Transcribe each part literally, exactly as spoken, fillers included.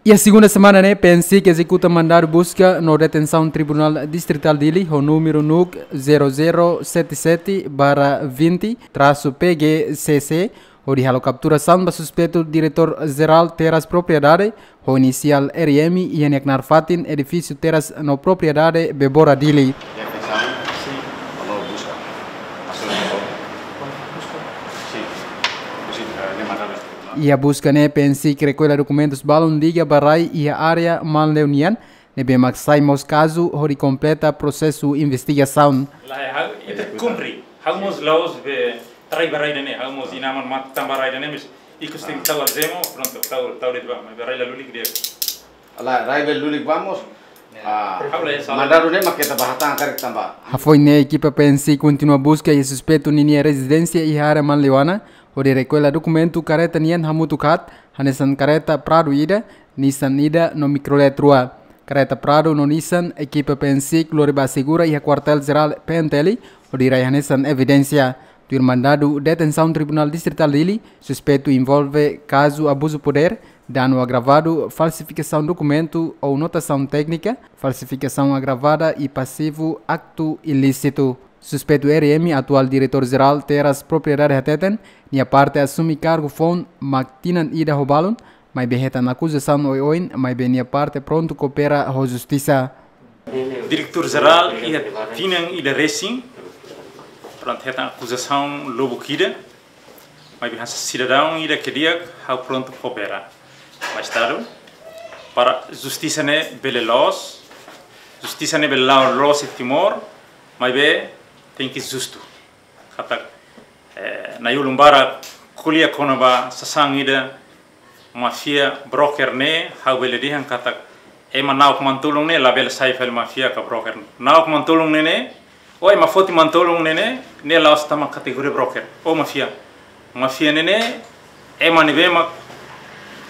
Iha segunda semana ne'e, PNSIC ezekuta mandadu buska no detensaun Tribunál Distritál Dili ho númeru NUC zero zero sete sete barra vinte traço P G C C, hodi halo kapturasaun ba suspeitu Diretór Jerál Terras Propriedade, ho inisiál R M, iha nia knaar fatin edifísiu Terras no Propriedade, Bebora, Dili. Iha buska ne'e, PNSIC rekulla dokumentus balun liga ba rai iha área Manleu nian, ne'ebé mak sai mós kazu hodi kompleta prosesu investigasaun. Lae, ha'u ita kumpre. Ha'u mós la'ós be rai ba rai ida-ne'e, ha'u mós inan-aman matan ba rai ida-ne'e, mas ikus tenke tau algema, prontu, tau, tau de'it ba, mas be rai la lulik de'it. Lae, rai la lulik ba mós. Ah, ha'u la iha sala. Mandadu ne'e mak keta ba hatán karik tanba. Hafoin ne'e, ekipa PNSIC kontinua buska iha suspeitu ninia rezidénsia iha área Manleu nian, hodi rekulla dokumentu karreta nian hamutuk haat, hanesan karreta Prado ida, Nissan ida no Mikrolet rua. Karreta Prado no Nissan, ekipa PNSIC lori ba asegura iha Kuartél Jerál PNTL, hodi rai hanesan evidénsia. Tuir mandadu detensaun Tribunál Distritál Dili, suspeitu envolve kazu abuzu podér, danu agravadu, falsifikasaun dokumentu ou notasaun téknika, falsifikasaun agravada i pasivu aktu ilísitu. Suspeitu R M, atuál Diretór Jerál Terras Propriedade, hateten, nia parte asume kargu foun mak tinan ida ho balun, maibé hetan akuzasaun oioin, maibé nia parte prontu koopera ho justisa. Diretór Jerál iha tinan ida resin, prontu, hetan akuzasaun lubuk ida, maibé hanesan sidadaun ida ke di'ak, ha'u prontu koopera. Mas Estadu, para justisa ne'e bele loos, justisa ne'e bele la'o loos iha Timor, maibé tenke justu. Katak, eh, na'in-ulun barak ko'alia kona-ba sasán ida, máfia, broker ne'e, ha'u bele dehan katak ema na'ok manu-tolun ne'e labele sai fali máfia ka broker ne'e. Na'ok manu-tolun ne'e ne'e, ou ema foti manu-tolun ne'e ne'e, ne'e la'ós tama kategoria broker ou máfia. Máfia ne'e ne'e, ema ne'ebé mak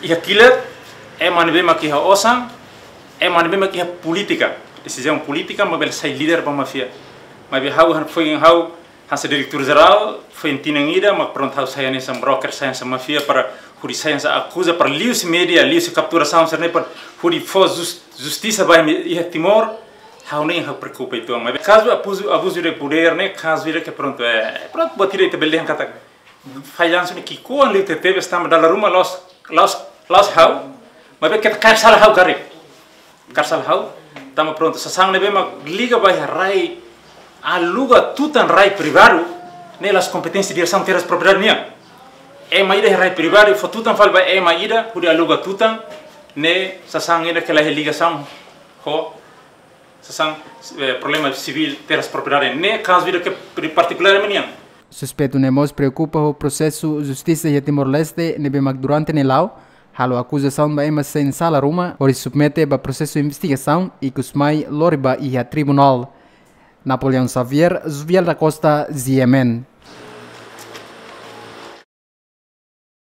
iha kilat, ema ne'ebé mak iha osan, ema ne'ebé mak iha polítika, desizaun polítika, mak bele sai líder ba máfia. Maibé ha'u han-, foin ha'u hanesan Diretór Jerál, foin tinan ida, mak prontu ha'u sai hanesan broker, sai hanesan máfia, para hodi sai hanesan akuza, para liuhusi média, liuhusi kapturasaun sira-ne'e, para hodi fó jus-, justisa ba ema iha Timor, ha'u nein ha'u preokupa uitoan. Maibé kazu abuzu, abuzu de podér ne'e, kazu ida ke prontu, eh, prontu, buat ida ita bele dehan katak fallansu ne'e ki'ikoan liu tebetebes tanba dala ruma la'ós, la'ós, la'ós ha'u, maibé keta kaer sala ha'u karik. Kaer sala ha'u, tanba prontu, sasán ne'ebé mak liga ba iha rai, aluga tutan rai privadu, ne'e la'ós kompeténsia Diresaun Terras Propriedade nian. Ema ida iha rai privadu fó tutan fali ba ema ida hodi aluga tutan, ne'e sasán ida ke la iha ligasaun ho sasán, eh, problema sivíl Terras Propriedade, ne'e kazu ida ke pri-, partikulár ema nian. Suspeitu ne'e mós preokupa ho prosesu justisa iha Timor-Leste ne'ebé mak durante ne'e la'o halo akuzasaun ba ema sein sala ruma, hodi submete ba prosesu investigasaun, ikus mai lori ba iha tribunál. Napoleão Xavier, Jovial da Costa, G M N.